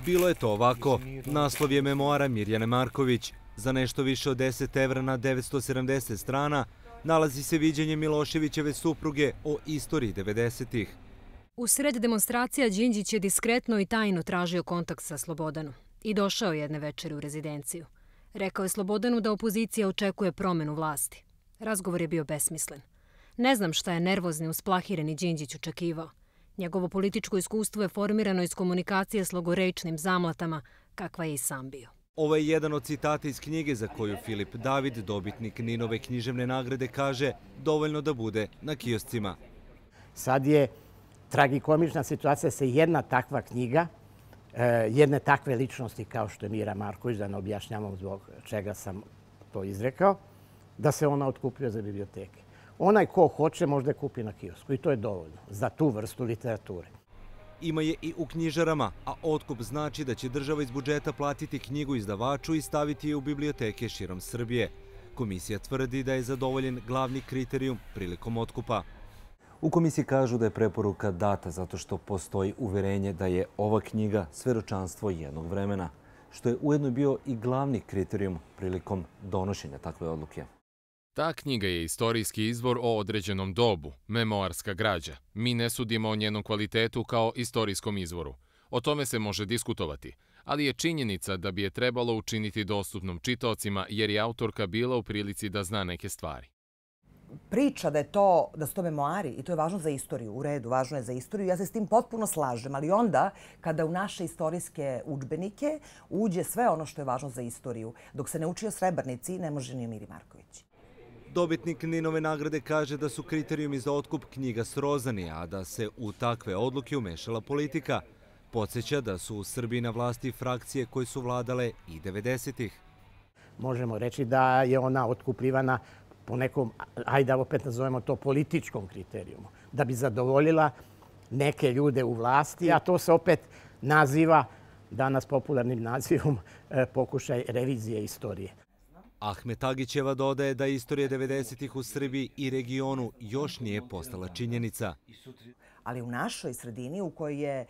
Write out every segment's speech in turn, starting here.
Bilo je to ovako. Naslov je memoara Mirjane Marković. Za nešto više od 10 evra na 970 strana nalazi se viđenje Miloševićeve supruge o istoriji 90-ih. U sred demonstracija Đinđić je diskretno i tajno tražio kontakt sa Slobodanom i došao jedne večeri u rezidenciju. Rekao je Slobodanu da opozicija očekuje promenu vlasti. Razgovor je bio besmislen. Ne znam šta je nervozni, usplahireni Đinđić očekivao. Njegovo političko iskustvo je formirano iz komunikacije s logorečnim zamlatama, kakva je i sam bio. Ovo je jedan od citata iz knjige za koju Filip David, dobitnik Ninove književne nagrade, kaže dovoljno da bude na kioscima. Sad je tragikomična situacija se jedna takva knjiga, jedne takve ličnosti kao što je Mira Marković, da ne objašnjavam zbog čega sam to izrekao, da se ona otkupljuje za biblioteke. Onaj ko hoće možda je kupi na kiosku i to je dovoljno za tu vrstu literature. Ima je i u knjižarama, a otkup znači da će država iz budžeta platiti knjigu izdavaču i staviti je u biblioteke širom Srbije. Komisija tvrdi da je zadovoljen glavni kriterijum prilikom otkupa. U komisiji kažu da je preporuka data zato što postoji uverenje da je ova knjiga svedočanstvo jednog vremena, što je ujedno bio i glavni kriterijum prilikom donošenja takve odluke. Ta knjiga je istorijski izvor o određenom dobu, memoarska građa. Mi ne sudimo o njenom kvalitetu kao istorijskom izvoru. O tome se može diskutovati, ali je činjenica da bi je trebalo učiniti dostupnom čitaocima jer je autorka bila u prilici da zna neke stvari. Priča da su to memoari i to je važno za istoriju, u redu, važno je za istoriju. Ja se s tim potpuno slažem, ali onda kada u naše istorijske udžbenike uđe sve ono što je važno za istoriju, dok se ne uči o Srebrenici, ne može ni o Miri Marković. Dobitnik Ninove nagrade kaže da su kriterijumi za otkup knjiga srozani, a da se u takve odluke umešala politika. Podsjeća da su u Srbiji na vlasti frakcije koje su vladale i 90-ih. Možemo reći da je ona otkupljivana po nekom, ajde opet nazovemo to političkom kriterijumu, da bi zadovoljila neke ljude u vlasti, a to se opet naziva danas popularnim nazivom pokušaj revizije istorije. Ahmet Agićeva dodaje da istorija 90-ih u Srbiji i regionu još nije postala činjenica. Ali u našoj sredini u kojoj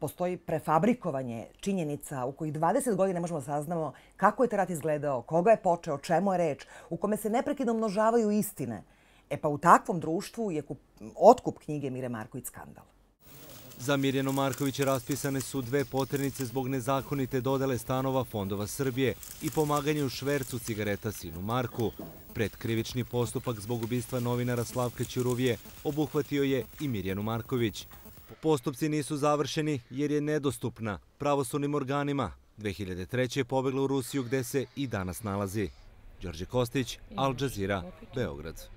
postoji prefabrikovanje činjenica, u kojih 20 godina možemo da saznamo kako je taj rat izgledao, koga je počeo, o čemu je reč, u kome se neprekidno množavaju istine. E pa u takvom društvu je otkup knjige Mire Marković skandal. Za Mirjanu Marković raspisane su 2 poternice zbog nezakonite dodele stanova Fondova Srbije i pomaganje u švercu cigareta sinu Marku. Predkrivični postupak zbog ubistva novinara Slavka Ćuruvije obuhvatio je i Mirjanu Marković. Postupci nisu završeni jer je nedostupna pravosudnim organima. 2003. je pobegla u Rusiju gde se i danas nalazi. Đorđe Kostić, Al Jazeera, Beograd.